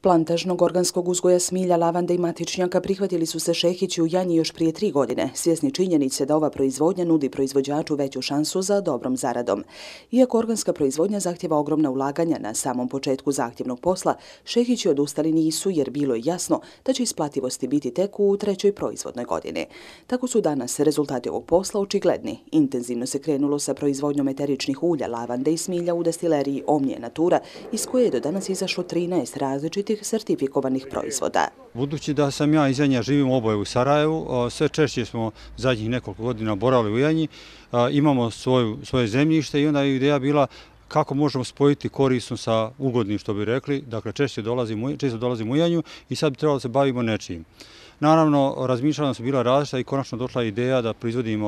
Plantažnog organskog uzgoja smilja, lavande i matičnjaka prihvatili su se Šehići u Janji još prije 3 godine, svjesni činjenice da ova proizvodnja nudi proizvođaču veću šansu za dobrom zaradom. Iako organska proizvodnja zahtjeva ogromna ulaganja na samom početku zahtjevnog posla, Šehići odustali nisu jer bilo je jasno da će isplativosti biti tek u 3. proizvodnoj godini. Tako su danas rezultati ovog posla očigledni. Intenzivno se krenulo sa proizvodnjom eteričnih ulja, lavande i smilja u destileriji Omnije Natura, iz koje je do danas izašlo 13 različitih sertifikovanih proizvoda. Budući da sam ja iz Janja, živim oboje u Sarajevu, sve češće smo zadnjih nekoliko godina boravili u Janji, imamo svoje zemljište i onda je ideja bila kako možemo spojiti korisno sa ugodnim, što bi rekli. Dakle, često dolazimo u Janju i sad bi trebalo da se bavimo nečim. Naravno, razmišljanja su bila različita i konačno došla ideja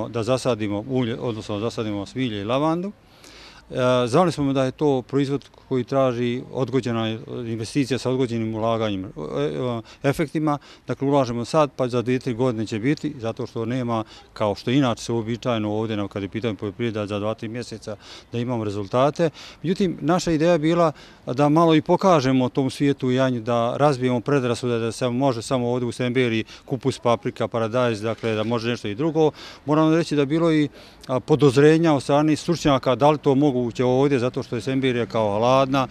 da zasadimo ulje, odnosno zasadimo smilje i lavandu. Znali smo da je to proizvod koji traži odgođena investicija sa odgođenim ulaganjem efektima. Dakle, ulažemo sad, pa za 2-3 godine će biti, zato što nema, kao što inače se uobičajeno ovdje, kad je pitanje poljoprivreda, za 2-3 mjeseca da imamo rezultate. Međutim, naša ideja je bila da malo i pokažemo tom svijetu u Janju, da razbijemo predrasude da se može samo ovdje u Semberiji kupus, paprika, paradajz, dakle da može nešto i drugo. Moram reći da je bilo i podozrenja od strane stručnjaka da li to moguće ovdje, zato što je Semberija kao hladna.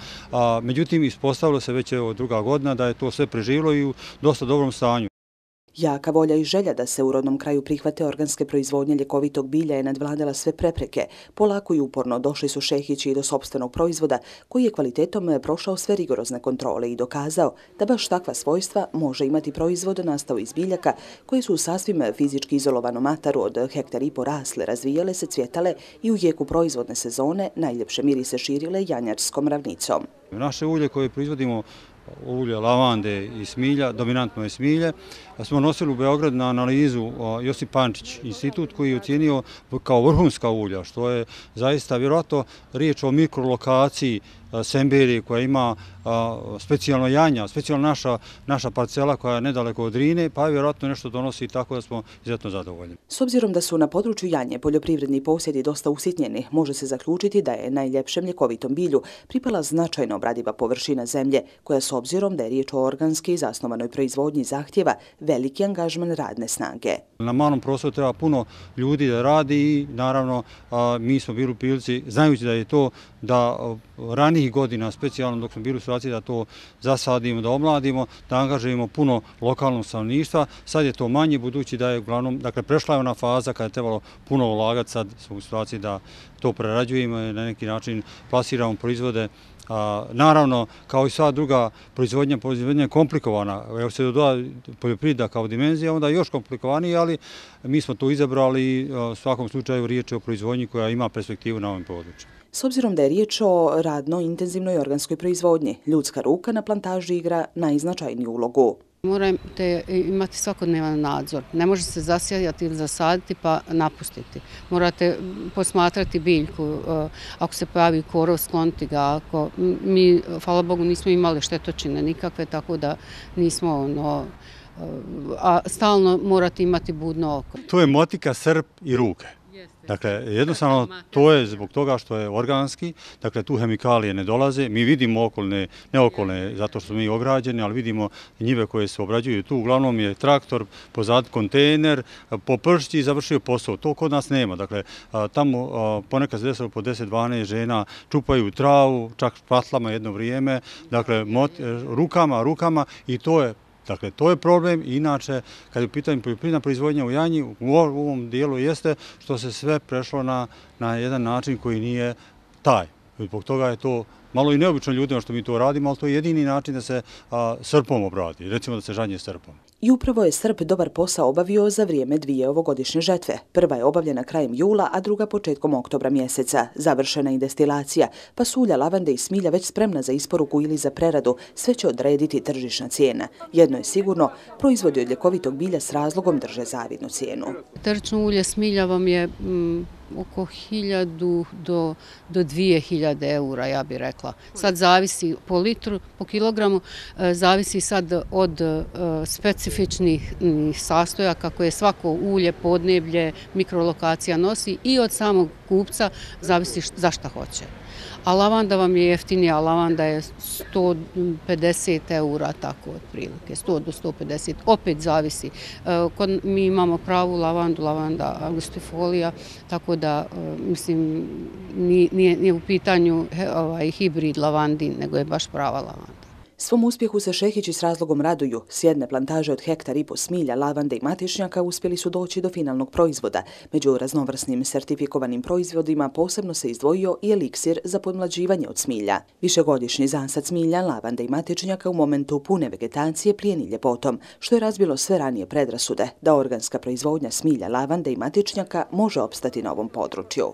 Međutim, ispostavilo se već druga godina da je to sve preživjelo i u dosta dobrom stanju. Jaka volja i želja da se u rodnom kraju prihvate organske proizvodnje ljekovitog bilja je nadvladala sve prepreke. Polako i uporno došli su Šehići i do sopstvenog proizvoda koji je kvalitetom prošao sve rigorozne kontrole i dokazao da baš takva svojstva može imati proizvod nastao iz biljaka koji su u sasvim fizički izolovanom ataru od 1,5 hektara rasle, razvijale se, cvjetale i u jeku proizvodne sezone najljepše mirise širile janjarskom ravnicom. Naše ulje koje proizvodimo, ulje lavande i smilja, dominantno je smilje, smo nosili u Beograd na analizu Josip Pančić institut koji je ocijenio kao vrhunska ulja, što je zaista vjerojatno riječ o mikrolokaciji Semberije koja ima specijalno Janja, specijalno naša parcela koja je nedaleko od Drine, pa vjerojatno nešto donosi tako da smo izuzetno zadovoljni. S obzirom da su na području Janje poljoprivredni posjedi dosta usitnjeni, može se zaključiti da je najljepšem ljekovitom bilju pripala značajno obradiva površina zemlje, koja s obzirom da je riječ o organski zasnovanoj proizvodnji zahtjeva veliki angažman radne snage. Na malom prostoru treba puno ljudi da radi i naravno mi smo bili u prilici, znajući da je to da ranijih godina, specijalno dok smo bili u situaciji da to zasadimo, da omladimo, da angažujemo puno lokalnog stanovništva. Sad je to manje, budući da je uglavnom, dakle, prešla je ona faza kada je trebalo puno ulagati, sad smo u situaciji da to prerađujemo i na neki način plasiramo proizvode. Naravno, kao i sva druga proizvodnja je komplikovana. Evo se doda poljoprivreda kao dimenzija, onda je još komplikovanije, ali mi smo to izabrali i u svakom slučaju riječ je o proizvodnji koja ima perspektivu na ovom području. S obzirom da je riječ o radno intenzivnoj organskoj proizvodnji, ljudska ruka na plantaži igra najznačajniju ulogu. Morate imati svakodnevan nadzor. Ne može se zasijati ili zasaditi pa napustiti. Morate posmatrati biljku. Ako se pojavi korov, skloniti ga. Mi, hvala Bogu, nismo imali štetočine nikakve, tako da nismo a stalno morate imati budno oko. To je motika, srp i ruke. Dakle, jednostavno to je zbog toga što je organski, dakle tu hemikalije ne dolaze, mi vidimo ne okolne zato što smo mi ograđeni, ali vidimo njive koje se obrađuju tu, uglavnom je traktor, pozad kontejner, popršći i završio posao, to kod nas nema, dakle tamo ponekad se desilo po 10-12 žena čupaju travu, čak patlama jedno vrijeme, dakle rukama i to je problem. Inače, kad je u pitanju poljoprivredna proizvodnja u Janji, u ovom dijelu jeste što se sve prešlo na jedan način koji nije taj. Zbog toga je to malo i neobično ljudima što mi to radimo, ali to je jedini način da se srpom obradi, recimo da se žanje srpom. I upravo je srp dobar posao obavio za vrijeme 2 ovogodišnje žetve. Prva je obavljena krajem jula, a druga početkom oktobra mjeseca. Završena je destilacija, pa su ulja lavande i smilja već spremna za isporuku ili za preradu, sve će odrediti tržišna cijena. Jedno je sigurno, proizvodi od ljekovitog bilja s razlogom drže zavidnu cijenu. Eterično ulje smilja vam je oko 1000 do 2000 eura, ja bih rekla. Sad zavisi po litru, po kilogramu, zavisi sad od specifičnih sastojaka koje svako ulje, podneblje, mikrolokacija nosi i od samog kupca zavisi za šta hoće. A lavanda vam je jeftinija, lavanda je 150 eura, tako otprilike, 100 do 150, opet zavisi. Mi imamo pravu lavandu, lavanda angustifolia, tako da, mislim, nije u pitanju hibrid lavandin, nego je baš prava lavanda. Svom uspjehu se Šehići s razlogom raduju. S jedne plantaže od 1,5 ha smilja, lavande i matičnjaka uspjeli su doći do finalnog proizvoda. Među raznovrsnim sertifikovanim proizvodima posebno se izdvojio i eliksir za podmlađivanje od smilja. Višegodišnji zasad smilja, lavande i matičnjaka u momentu pune vegetacije plijeni ljepotom, što je razbilo sve ranije predrasude da organska proizvodnja smilja, lavande i matičnjaka može opstati na ovom području.